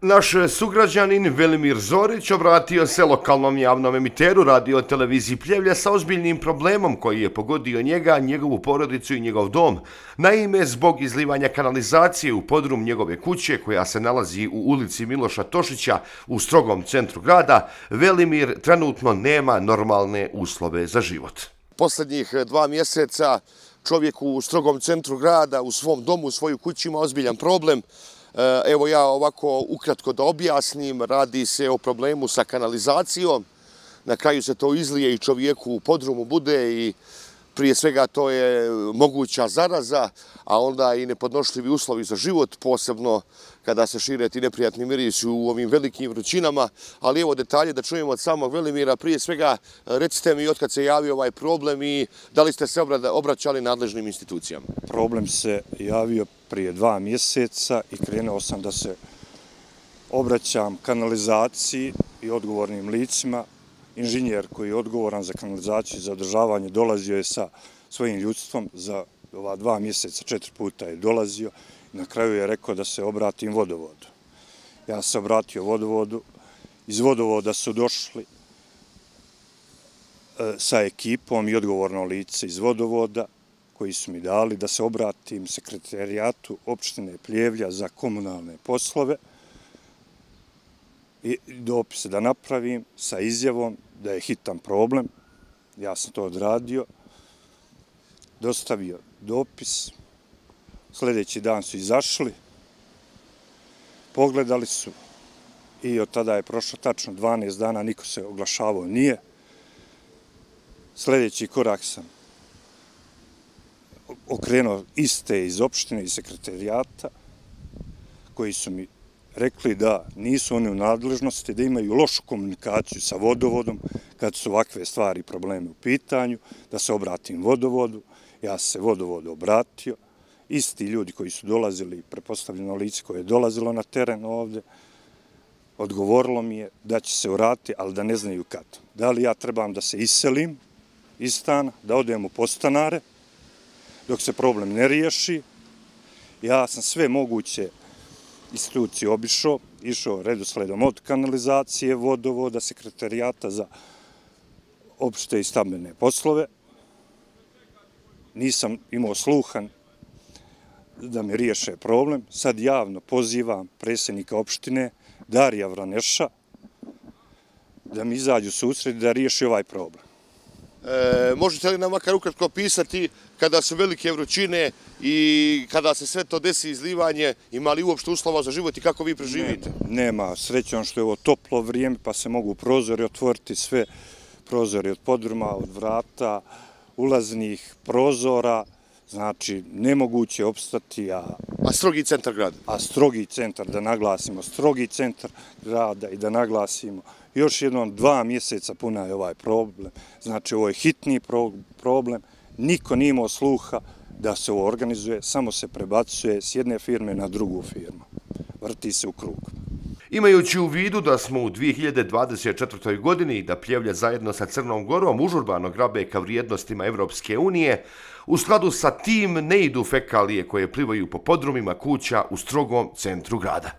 Naš sugrađanin Velimir Zorić obratio se lokalnom javnom emiteru radio televiziji Pljevlja sa ozbiljnim problemom koji je pogodio njega, njegovu porodicu i njegov dom. Naime, zbog izlivanja kanalizacije u podrum njegove kuće, koja se nalazi u ulici Miloša Tošića u strogom centru grada, Velimir trenutno nema normalne uslove za život. Posljednjih 2 mjeseca čovjek u strogom centru grada, u svom domu, u svojoj kući ima ozbiljan problem. Evo ja ovako ukratko da objasnim, radi se o problemu sa kanalizacijom. Na kraju se to izlije i čovjeku u podrumu bude i prije svega to je moguća zaraza, a onda i nepodnošljivi uslovi za život, posebno kada se šire ti neprijatni mirisi u ovim velikim vrućinama. Ali evo detalje da čujemo od samog Velimira. Prije svega recite mi otkad se javio ovaj problem i da li ste se obraćali nadležnim institucijama? Problem se javio prije 2 mjeseca i krenuo sam da se obraćam kanalizaciji i odgovornim licima. Inženjer koji je odgovoran za kanalizaciju i za održavanje dolazio je sa svojim ljudstvom za ova 2 mjeseca, 4 puta je dolazio i na kraju je rekao da se obratim vodovodu. Ja se obratio vodovodu, iz vodovoda su došli sa ekipom i odgovorno lice iz vodovoda koji su mi dali da se obratim sekretarijatu opštine Pljevlja za komunalne poslove i dopise da napravim sa izjavom da je hitan problem. Ja sam to odradio, dostavio dopis, sljedeći dan su izašli, pogledali su i od tada je prošlo tačno 12 dana, niko se oglašavao nije. Sljedeći korak sam okrenuo iste iz opštine i sekretarijata koji su mi rekli da nisu oni u nadležnosti, da imaju lošu komunikaciju sa vodovodom kad su ovakve stvari i probleme u pitanju, da se obratim vodovodu. Ja se vodovodu obratio. Isti ljudi koji su dolazili, prepostavljeno lice koje je dolazilo na teren ovdje, odgovorilo mi je da će se vratiti, ali da ne znaju kad. Da li ja trebam da se iselim iz stana, da odem u podstanare, dok se problem ne riješi. Ja sam sve moguće institucije obišao, išao redosledom od kanalizacije, vodovoda, sekretarijata za opšte i stambene poslove. Nisam imao sluha da mi riješe problem. Sad javno pozivam predsjednika opštine Darija Vraneša da mi izađu susret da riješi ovaj problem. Možete li nam makar ukratko opisati kada su velike vrućine i kada se sve to desi izlivanje, ima li uopšte uslova za život i kako vi preživite? Nema, srećom što je ovo toplo vrijeme pa se mogu prozori otvoriti, sve prozori od podruma, od vrata, ulaznih prozora, znači nemoguće opstati. A strogi centar grada? A strogi centar, da naglasimo, strogi centar grada i da naglasimo još jednom 2 mjeseca puna je ovaj problem. Znači ovo je hitni problem, niko nije imao sluha da se ovo organizuje, samo se prebacuje s jedne firme na drugu firmu. Vrti se u krug. Imajući u vidu da smo u 2024. godini i da Pljevlja zajedno sa Crnom Gorom užurbano grabe ka vrijednostima Evropske unije, u skladu sa tim ne idu fekalije koje plivaju po podrumima kuća u strogom centru grada.